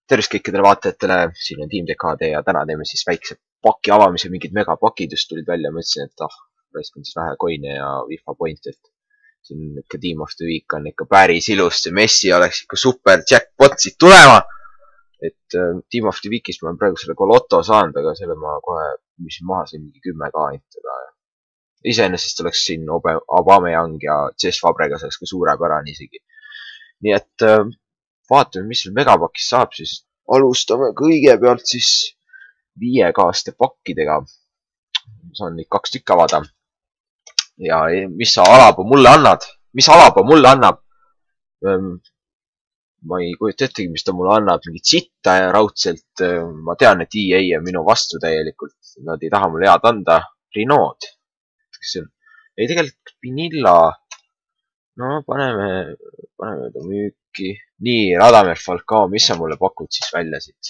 tervist kõikidele vaatajatele, siin on Team DKD ja täna teeme siis väikse paki avamise, mingid megapakid just tulid välja, mõtlesin, et raiskan siis vähe coin'e ja FIFA point'e, et siin ikka Team of the Week on ikka päris ilus, see Messi oleks ikka super jackpot siit tulema. Et Team of the Week'is ma olen praegu selle Lotto saanud, aga selle ma kohe müüsin maha siin mingi 10K intada. Iseenesest oleks siin Aubameyang ja Cesc Fabregas oleks ka suurepärane isegi. Nii et vaatame, mis seal megapakis saab, siis alustame kõigepealt siis 5K-ste pakkidega. Saan neid 2 tükki avada. Ja mis sa Alaba mulle annad? Mis Alaba mulle annab? Ma ei kujuta ettegi, mis ta mulle annab. Mingit sitta ja raudselt. Ma tean, et EA on minu vastu täielikult. Nad ei taha mulle head anda. Renault. Ei, tegelikult Pinilla. No, paneme ta müüki. Nii, Radamel Falcao, mis sa mulle pakud siis välja siit?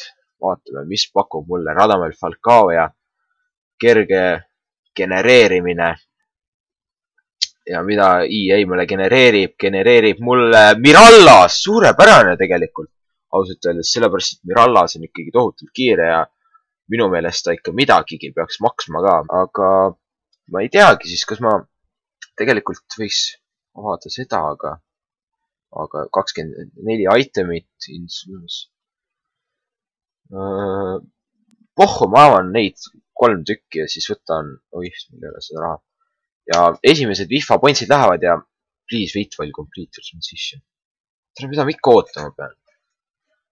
Vaatame, mis pakub mulle Radamel Falcao ja kerge genereerimine. Ja mida EA mulle genereerib mulle Mirallas, suurepärane tegelikult. Ausalt öeldes, sellepärast, et Mirallas on ikkagi tohutult kiire ja minu meelest ta ikka midagigi peaks maksma ka. Aga ma ei teagi siis, kas ma tegelikult võiks avada seda, aga 24 itemit. Pohhu, ma avan neid 3 tükki ja siis võtan, mul ei ole seda raha. Ja esimesed FIFA pointsid lähevad ja please wait while complete your transition. Tere, mida ma ikka ootama pean?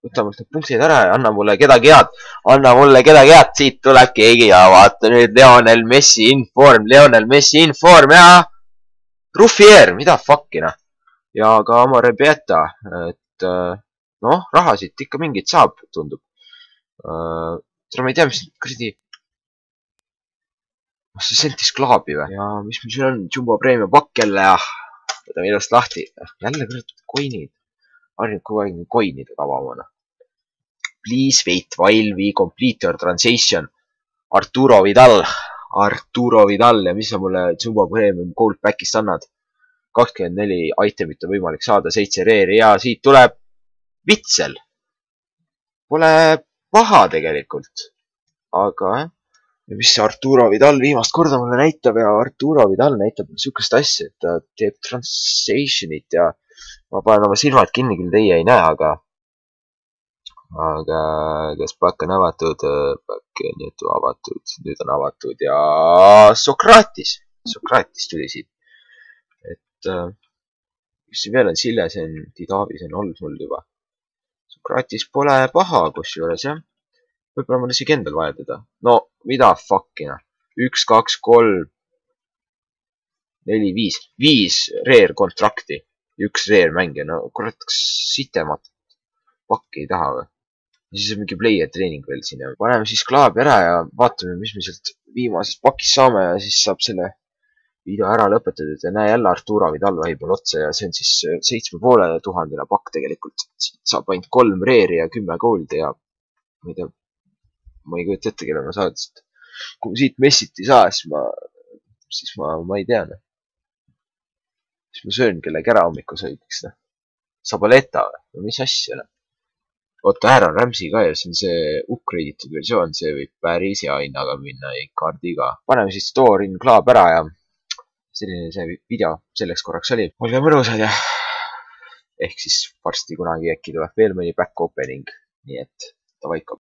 Võta mult need punktid ära ja anna mulle kedagi head. Anna mulle kedagi head, siit tuleb keegi ja vaata nüüd Lionel Messi inform ja Ruffier, mida fuckina. Ja ka Amore Beta, et noh, rahasid ikka mingid saab, tundub. Tere, ma ei tea, mis kuradi... See sentis klaabi või? Ja mis meil siin on? Jumbo Premium pakk jälle ja võtame ilusti lahti. Jälle kurat coin'id. Harjub kogu aeg coin'ide kavamana. Please wait while we complete your transition. Arturo Vidal ja mis sa mulle Jumbo Premium Gold Pack'ist annad? 24 itemit on võimalik saada, 7 reeri ja siit tuleb Vitsel. Pole paha tegelikult. Aga ja mis see Arturo Vidal viimast korda mulle näitab ja Arturo Vidal näitab niisugust asja, et ta teeb translation'it ja ma panen oma silmad kinni, küll teie ei näe, aga kas pakk on avatud? Pakk on jutu avatud, nüüd on avatud ja Sokratis tuli siit. Et mis siin veel on, Sillesen, Didavis on olnud mul juba. Sokratis pole paha, kus juures, jah. Võib-olla ma isegi endal vaja teda. No, mida fuckina? 1, 2, 3, 4, 5. 5 reer kontrakti. 1 reer mängija. No, kurat, kas sitemat pakki ei taha või? Ja siis on mingi player treening veel siin. Ja paneme siis klaabi ära ja vaatame, mis me sealt viimasest pakist saame ja siis saab selle video ära lõpetatud. Ja näe jälle Arturo Vidal vahepeal otsa ja see on siis 7500 pakk tegelikult. Siit saab ainult 3 reeri ja 10 gold ja ma ei tea, ma ei kujuta ette, kelle ma saadsin. Kui ma siit Messit ei saa, siis ma ei tea. Siis ma söön kellegi ära hommikusöögiks. Sabaleta või? Mis asja? Oota, ära on Ramsey ka ja see on see upgrade'itud versioon. See võib päris hea hinnaga minna kaardiga. Paneme siis store in klaab ära ja selline see video selleks korraks oli. Olge mõnusad ja ehk siis varsti kunagi äkki tuleb veel mõni back opening. Nii et ta vaikab.